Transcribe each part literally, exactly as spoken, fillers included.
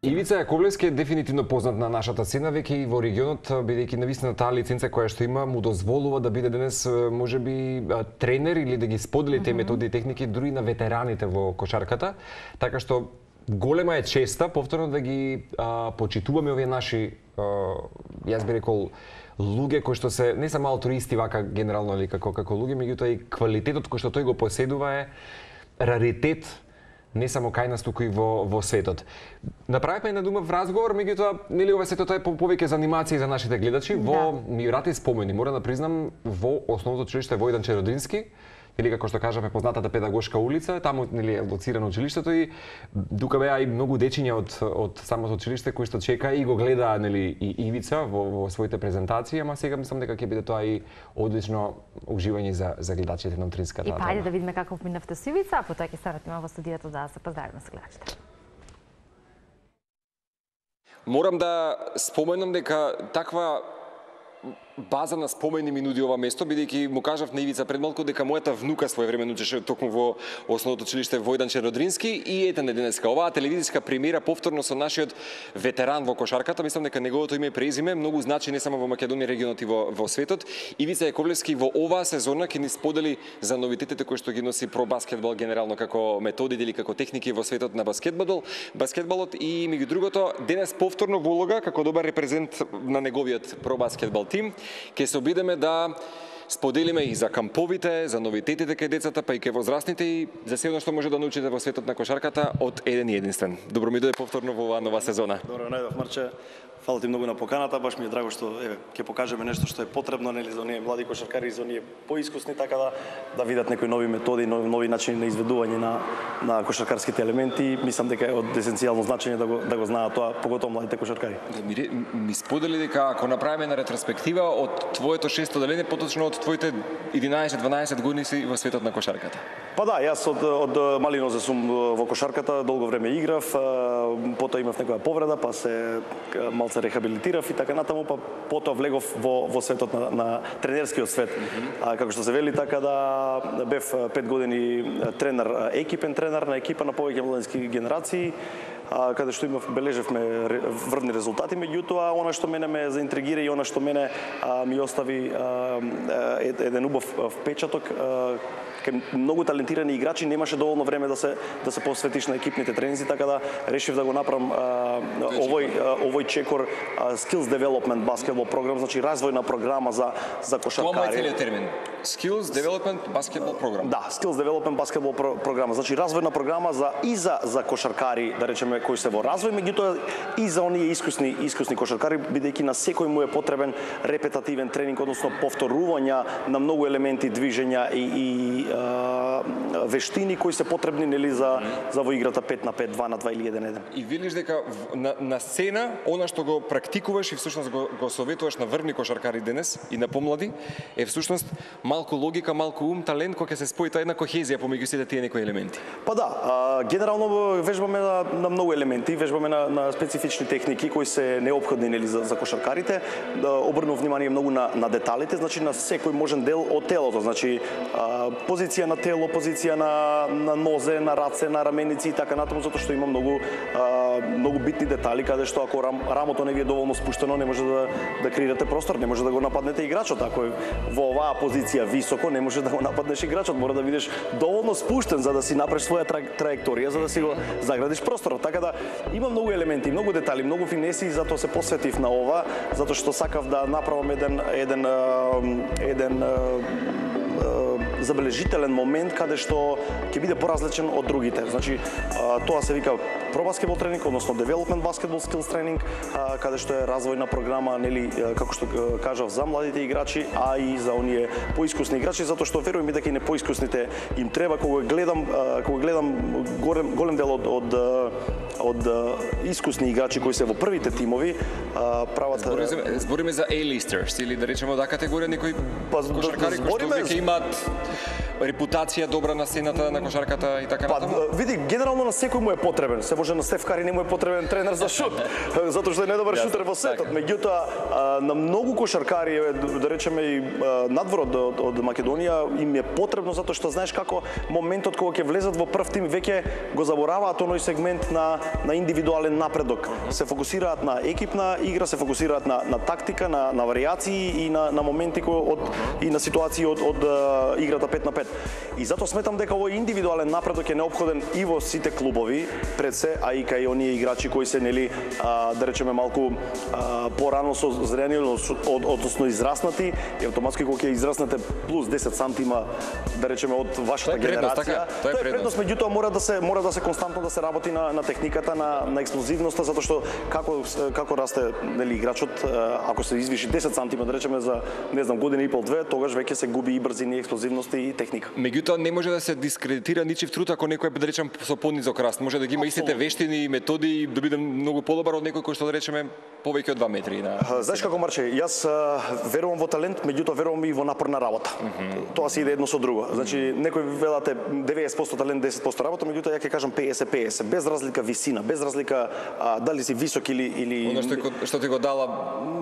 Ивица Јаковлевски е дефинитивно познат на нашата сцена, веќе и во регионот, бидејќи навистина таа лиценца која што има му дозволува да биде денес можеби тренер или да ги сподели тие методи и техники дури на ветераните во кошарката, така што голема е честа повторно да ги а, почитуваме овие наши, а, јас би рекол, луѓе кои што се не само алтруисти вака генерално или како како луѓе, меѓутоа и квалитетот кој што тој го поседува е раритет не само кај нас, туку и во, во светот. Направивме една дума в разговор, меѓутоа, нели ова сето тоа е повеќе за анимација за нашите гледачи. Во да. Ми врати спомени, мора да признам, во основното училиште Војдан Черодрински, или како што кажаме познатата педагошка улица, таму нели е лоцирано училиштето и дука беа и многу дечиња од од самото училиште кои што чека и го гледа нели и Ивица во, во своите презентации, ама сега мислам дека ќе биде тоа и одлично уживање за за гледачите на утринската. И па ајде да видиме како минавте со Ивица, а потоа ќе се вратиме во студиото да се поздравиме со гледачите. Морам да споменам дека таква база на спомени ми нуди ова место, бидејќи му кажав на Ивица пред малку дека мојата внука своевремено учеше токму во основното училиште Војдан Черодрински и ете не денеска оваа телевизиска премиера повторно со нашиот ветеран во кошарката, мислам дека неговото име и презиме многу значи не само во Македонија, регионот и во, во светот. Ивица Јаковлевски во оваа сезона ќе ни сподели за новитетите кои што ги носи про баскетбол генерално како методи или како техники во светот на баскетбол, баскетболот и меѓу другото денес повторно во улога како добар репрезент на неговиот про баскетбол тим. Ке се обидеме да споделиме и за камповите, за новитетите кај децата, па и кај возрастните и за се оно што може да научите во светот на кошарката од еден и единствен. Добро ми дојде повторно во оваа нова сезона. Добро најдов, Марче. Фала ти многу на поканата, баш ми е драго што еве ќе покажеме нешто што е потребно нели за оние млади кошаркари, за оние поискусни, така да да видат некои нови методи, нови, нови начини на изведување на на кошаркарските елементи. Мислам дека е од есенцијално значење да го да го знаат тоа, поготово младите кошаркари. Да, ми, ми сподели дека ако направиме на ретроспектива од твоето шесто одделение, поточно од твоите единаесет-дванаесет години си во светот на кошарката. Па да, јас од од мали нозе сум во кошарката, долго време играв, потоа имав некоја повреда, па се малце рехабилитирав и така натаму, па потоа влегов во во светот на, на тренерскиот свет. Mm -hmm. А како што се вели, така да бев пет години тренер, екипен тренер на екипа на повеќе младински генерации, а, каде што имав бележевме врвни резултати, меѓутоа она што мене ме заинтригира и она што мене а, ми остави а, еден убав впечаток а, кај многу талентирани играчи немаше доволно време да се да се посветиш на екипните тренинзи, така да решив да го направам а, овој а, овој чекор а, Skills Development Basketball програм, значи развојна програма за за кошаркари. Тоа е целиот термин. Skills Development Basketball Program. Да, Skills Development Basketball про програма, значи развојна програма за и за за кошаркари, да речеме кои се во развој, меѓутоа и за оние искусни искусни кошаркари, бидејќи на секој му е потребен репетативен тренинг, односно повторувања на многу елементи, движења и, и вештини кои се потребни нели за за во играта пет на пет, два на два или еден на еден. И видиш дека на, на сцена она што го практикуваш и всушност го, го советуваш на врвни кошаркари денес и на помлади е всушност малку логика, малку ум, талент кој ќе се спои, тоа една кохезија помеѓу сите тие некои елементи. Па да, а, генерално вежбаме на, на многу елементи, вежбаме на, на специфични техники кои се неопходни нели за, за кошаркарите. Да обрнув внимание многу на на деталите, значи на секој можен дел од телото, значи а, позиција на тело, позиција на на нозе, на раце, на раменици и така натаму, затоа што има многу а, многу битни детали каде што ако рам, рамото не ви е доволно спуштено, не може да да креирате простор, не може да го нападнете играчот. Ако е во оваа позиција високо, не може да го нападнеш играчот, мора да бидеш доволно спуштен за да си направиш своја тра, траекторија, за да си го заградиш просторот. Така да има многу елементи, многу детали, многу финеси, затоа се посветив на ова, затоа што сакав да направам еден еден еден забележителен момент каде што ќе биде поразличен од другите. Значи, тоа се вика про баскетбол тренинг, односно Development Basketball Skills тренинг, каде што е развојна програма, нели, како што кажав, за младите играчи, а и за оние поискусни играчи, затоа што верувам и дека и не поискусните им треба, кога гледам, кога гледам голем, голем дел од од од искусни играчи кои се во првите тимови, прават збориме, збориме за A-listers или да речеме од А категорија некои кошаркари кои што веќе имаат репутација добра на сцената на кошарката и така Па, натаму? види, генерално на секој му е потребен. Се може на Стеф Кари не му е потребен тренер за шут, затоа што е најдобар шутер во светот. Меѓутоа, на многу кошаркари, да речеме и надвор од, од Македонија, им е потребно затоа што знаеш како моментот кога ќе влезат во прв тим веќе го забораваат оној сегмент на на индивидуален напредок. Се фокусираат на екипна игра, се фокусираат на на тактика, на на варијации и на на моменти кои од и на ситуации од од играта пет на пет. И затоа сметам дека овој индивидуален напредок е неопходен и во сите клубови пред се, а и кај оние играчи кои се нели а, да речеме малку а, порано со зрени, од, односно израснати, и автоматски кога ќе израснете плюс десет сантима, да речеме од вашата предност, генерација, така? Тоа е предност, меѓутоа мора да се мора да се константно да се работи на на техниката, на на експлозивноста, затоа што како како расте нели играчот, ако се извиши десет сантима, да речеме за не знам година и пол две, тогаш веќе се губи и брзина, и експлозивност и техника. Меѓутоа не може да се дискредитира ничив труд ако некој да речем со понизок раст. Може да ги има истите вештини и методи и да биде многу подобар од некој кој што да речеме повеќе од два метри на. Знаеш како, Марче, јас верувам во талент, меѓутоа верувам и во напорна работа. Mm -hmm. Тоа се иде едно со друго. Значи некој велате деветдесет проценти талент, десет проценти работа, меѓутоа ја ќе кажам петдесет петдесет, без разлика висина, без разлика а, дали си висок или или Оно што, што ти го дала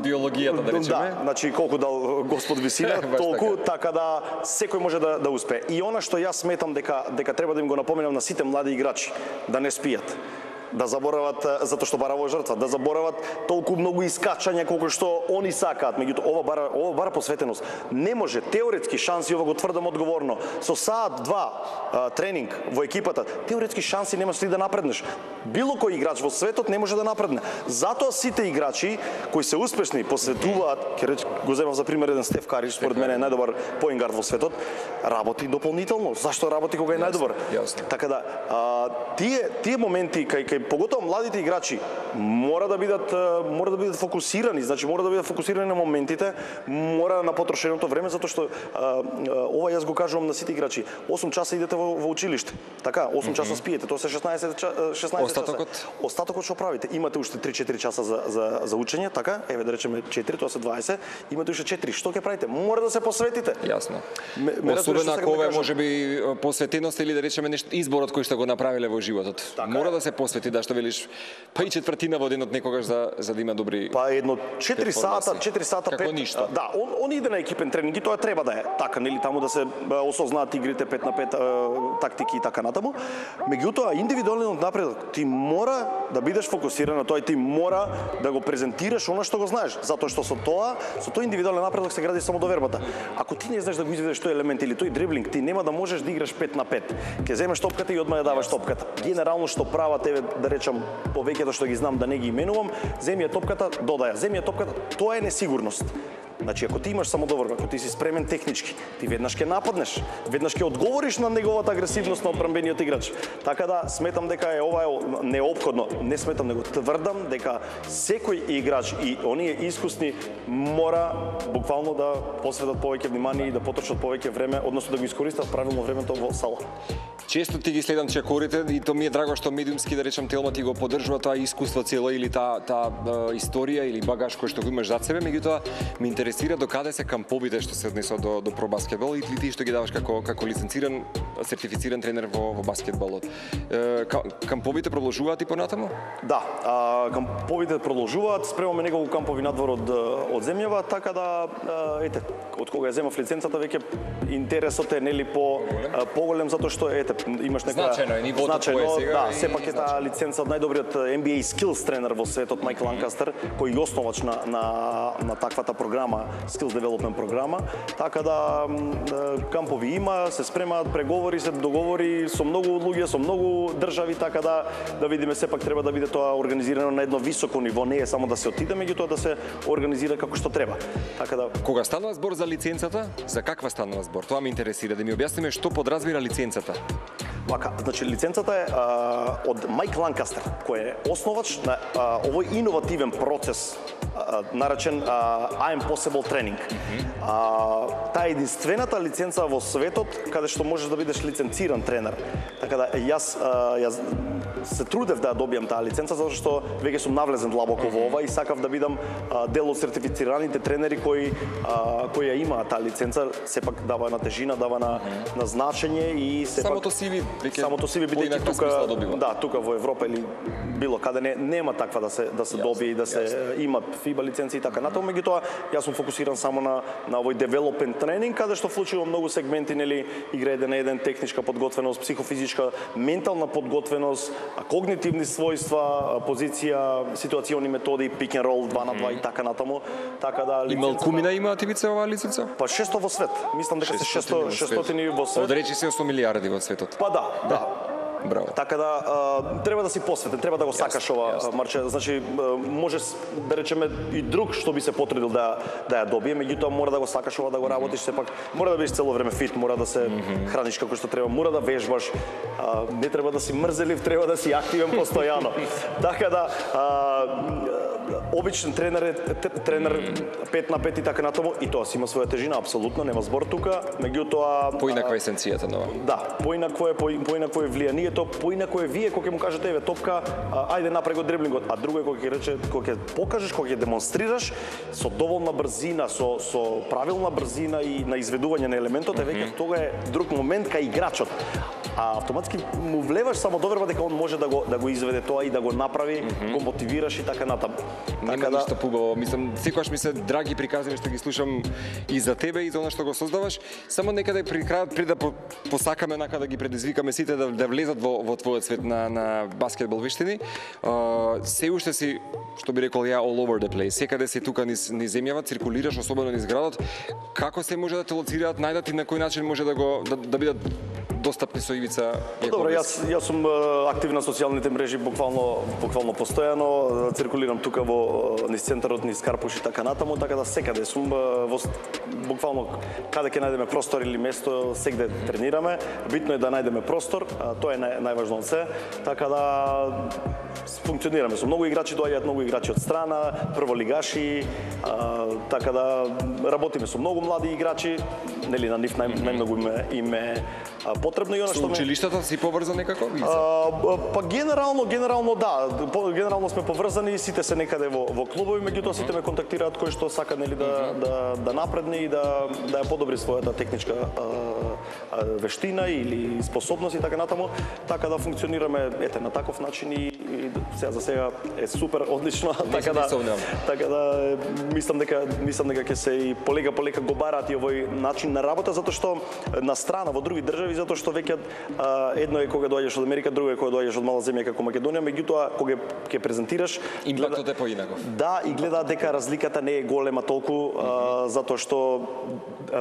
биологијата, да речеме. Да, значи колку дал Господ висина, толку така. така да секој може да да успее. И она што јас сметам дека дека треба да им го напоменам на сите млади играчи, да не спијат, да заборават затоа што бараво жртва, да заборават толку многу искачања колку што они сакаат, меѓутоа ова бара ова бара посветеност. Не може теоретски шанси, ова го тврдам одговорно, со саат два а, тренинг во екипата, теоретски шанси немаш ли да напреднеш. Било кој играч во светот не може да напредне. Затоа сите играчи кои се успешни посветуваат, ќе реч, го земав за пример еден Стеф Кари, според мене е најдобар поингард во светот, работи дополнително. Зашто работи кога е најдобар? Така да, а, тие тие моменти кај кај поготово младите играчи мора да бидат мора да бидат фокусирани, значи мора да бидат фокусирани на моментите, мора на потрошеното време, затоа што а, ова јас го кажувам на сите играчи. осум часа идете во, во училиште. Така, осум часа спиете, тоа се шеснаесет шеснаесет Остатокот? часа. Остатокот што правите? Имате уште три-четири часа за за за учење, така? Еве да речеме четири, тоа се дваесет, имате уште четири. Што ќе правите? Мора да се посветите. Јасно. Ме, ме Особено ако ова да може би посветеност или да речеме нешто изборот кој што го направиле во животот. Така мора е. да се посвети, да што велиш, па и четвртина во денот некогаш за за да има добри. Па едно четири сата, четири сата како пет. ништо. Да, он он иде на екипен тренинг и тоа треба да е. Така, нели, таму да се осознаат игрите пет на пет, тактики и така натаму. Меѓутоа, индивидуалниот напредок ти мора да бидеш фокусиран на тоа и ти мора да го презентираш она што го знаеш, затоа што со тоа, со тој индивидуален напредок се гради самодовербата. Ако ти не знаеш да го изведеш тој елемент или тој дриблинг, ти нема да можеш да играш пет на пет. Ќе земеш топката и одма ја даваш топката. Генерално што прават еве да речам повеќето што ги знам, да не ги именувам, земи ја топката, додаја, земи ја топката, тоа е несигурност. Значи, ако ти имаш самодоверба, ако ти си спремен технички, ти веднаш ќе нападнеш, веднаш ќе одговориш на неговата агресивност на одбранбениот играч. Така да, сметам дека е ова е неопходно. Не сметам, него тврдам дека секој играч и оние искусни мора буквално да посветат повеќе внимание и да потрошат повеќе време, односно да го искористат правилно времето во сала. Често ти ги следам чекорите и то ми е драго што медиумски да речам Телма ти го поддржува тоа искуство цело или таа таа историја или багаж кој што го имаш зад себе, меѓутоа ме интересира до каде се камповите што се однесува до до пробаскетбол и ти што ги даваш како како лиценциран сертифициран тренер во во баскетболот. Е, камповите продолжуваат и понатаму? Да, а, камповите продолжуваат, спремаме неколку кампови надвор од од земјава, така да ете, од кога ја земав лиценцата веќе интересот е нели по поголем затоа што ете имаш нека значено е нивото значено, кое сега. Да, сепак е таа лиценца од најдобриот Н Б А Skills тренер во светот Майкл Ланкастер, кој е основач на на на таквата програма, Skills Development програма, така да кампови има, се спремаат преговори, се договори со многу луѓе, со многу држави, така да да видиме сепак треба да биде тоа организирано на едно високо ниво, не е само да се отиде, меѓутоа да се организира како што треба. Така да кога станува збор за лиценцата, за каква станува збор? Тоа ме интересира да ми објасниме што подразбира лиценцата. Вака, значи лиценцата е а, од Майк Ланкастер, кој е основач на а, овој иновативен процес наречен I am possible training. А, таа е единствената лиценца во светот каде што можеш да бидеш лиценциран тренер. Така да јас јас се трудев да ја добијам таа лиценца затоа што веќе сум навлезен длабоко во ова и сакав да бидам дел од сертифицираните тренери кои кои ја имаат таа лиценца, сепак дава на тежина, дава на на значење и сепак самото си ви веќе самото си ви бидејќи тука да, тука во Европа или било каде не нема таква да се да се доби и да се има фиба лиценци и така натаму, меѓутоа јас сум фокусиран само на на овој development тренинг каде што вклучува многу сегменти, нели, игра еден на еден, техничка подготвеност, психофизичка, ментална подготвеност, когнитивни својства, позиција, ситуациони методи, pick and roll два на два и така натаму. Така да Имал кумина имаат ивица оваа лиценца? Па шесто во свет. Мислам дека се шесто шестстотини во свет. Од речи се осум милиарди во светот. Па да, да. Браво. Така да а, треба да си посветен, треба да го сакаш ова марче. Значи може да речеме и друг што би се потрудил да да ја добие, меѓутоа мора да го сакаш ова, да го работиш, сепак мора да бидеш цело време фит, мора да се храниш како што треба, мора да вежбаш. А, не треба да си мрзелив, треба да си активен постојано. Така да а, обичен тренер е тренер пет на пет и така натаму и тоа си има своја тежина, апсолутно нема збор тука, меѓутоа поинаква есенцијата нова. Да, поинакво е, поинакво е влијанието, поинако е вие кога ќе му кажете еве топка, а, ајде направи го дриблингот, а друго е кога ќе рече, кога ќе покажеш, кога ќе демонстрираш со доволна брзина, со со правилна брзина и на изведување на елементот, е веќе тога е друг момент кај играчот. А автоматски му влеваш само доверба дека он може да го да го изведе тоа и да го направи, mm -hmm. го мотивираш и така натаму. Нема така да... ништо пубаво. Мислам, секогаш ми се драги приказни што ги слушам и за тебе и за она што го создаваш. Само некаде при крајот пред да по, посакаме нака да ги предизвикаме сите да, да влезат во, во твојот свет на, на баскетбол виштини. Uh, се уште си, што би рекол ја, all over the place. Секаде си тука низ, низ земјава, циркулираш, особено низ градот. Како се може да те лоцираат, најдат и на кој начин може да го да, да бидат достапни со ивица? Добро, јас јас сум активен на социјалните мрежи буквално буквално постојано, циркулирам тука во низ центарот, низ Карпуш и така натаму, така да секаде сум во буквално каде ќе најдеме простор или место, сегде тренираме. Битно е да најдеме простор, тоа е нај, најважно од се. Така да функционираме со многу играчи, доаѓаат многу играчи од страна, прволигаши, а, така да работиме со многу млади играчи, нели на нив нај, најмногу им, им е потребно и она што со училиштата си поврзан некако? А, па генерално, генерално да, генерално сме поврзани, сите се некаде во во клубови, меѓутоа сите ме контактираат кој што сака нели да да да напредне и да да ја подобри својата техничка а, а, вештина или способност и така натаму, така да функционираме ете на таков начин и, и сега за сега е супер одлично, така да така да мислам дека мислам дека ќе се и полека полека го бараат и овој начин на работа, затоа што на страна во други држави, затоа што веќе едно е кога доаѓаш од Америка, друго е кога доаѓаш од мала земја како Македонија, меѓутоа кога ќе презентираш импактот е поинаков. Да, и гледаат дека разликата не е голема толку, а, затоа што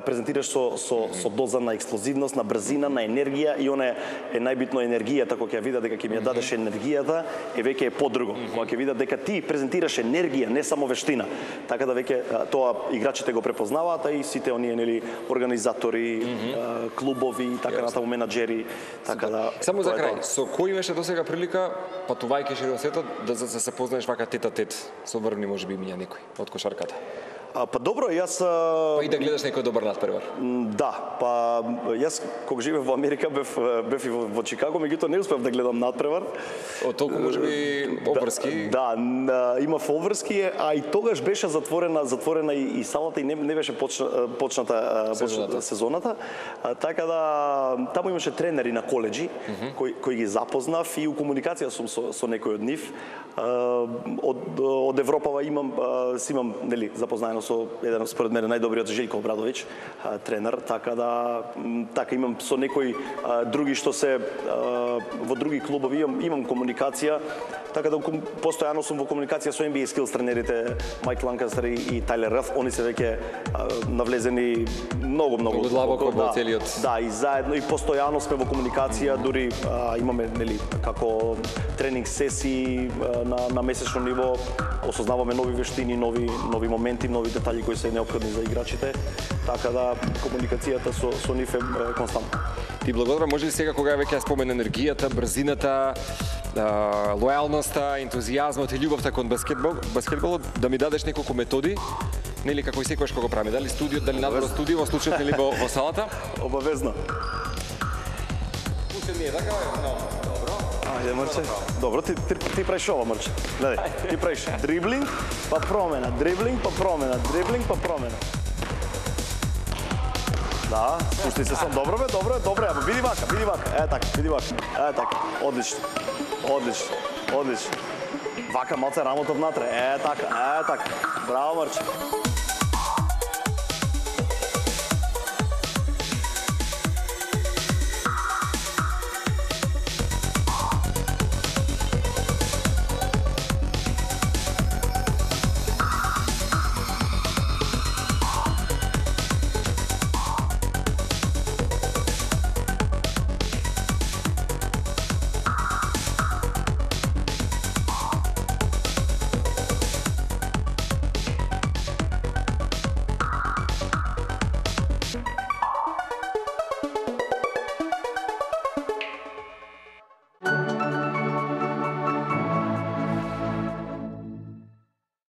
презентираш со со со доза на експлозивност, на брзина, на енергија и она е најбитно енергијата, кога ќе видат дека ќе ми ја дадеш енергијата, е веќе е подруго. Кога ќе видат дека ти презентираш енергија, не само вештина. Така да веќе тоа играчите го препознаваат, а и сите оние нели организатори, mm-hmm. клубови и така натаму менаџери, така да. Само за крај, со кој имаше досега прилика патувајќи широк светот да за да се познаеш вака тет а тет со врвни можеби имиња некој од кошарката? А, па добро, јас... Па и да гледаш некој добар надпревар. Да, па јас кога живеев во Америка бев бев и во, во Чикаго, меѓутоа не успев да гледам надпревар. Од толку можеби обврски. Да, да, имав обврски, а и тогаш беше затворена затворена и, и салата и не, не беше почна, почната сезоната. сезоната. А, така да таму имаше тренери на коледжи mm -hmm. кои кои ги запознав и у комуникација сум со, со некој од нив. А, од од Европа имам си имам нели запознаено со еден според мене најдобриот Желјко Обрадовиќ, тренер, така да така имам со некои а, други што се а, во други клубови имам, имам комуникација, така да постојано сум во комуникација со Н Б А Skills тренерите Майк Ланкастер и, и Тайлер Рф, они се веќе а, навлезени многу многу длабоко во да, целиот. Да, и заедно и постојано сме во комуникација, дури а, имаме нели како тренинг сесии а, на на месечно ниво, осознаваме нови вештини, нови нови моменти, нови овие детали кои се неопходни за играчите, така да комуникацијата со со нив е константна. Ти благодарам, може ли сега кога веќе ја спомена енергијата, брзината, лојалноста, ентузијазмот и љубовта кон баскетбол, баскетболот, да ми дадеш неколку методи, нели како и секогаш кога го правиме, дали студио, дали надвор студио, во случајот нели во, во салата? Обавезно. Пусте ми е така, но добро. Ајде, Мрче. Добро, ти, ти, ти правиш ова, Мрче. Гледај, ти правиш дриблинг, па промена, дриблинг, па промена, дриблинг, па промена. Да, пушти се сам. Добро бе, добро, добро. Ама биди вака, биди вака. Е така, биди вака. Е така. Одлично. Одлично. Одлично. Вака малце рамото внатре. Е така, е така. Браво, Мрче.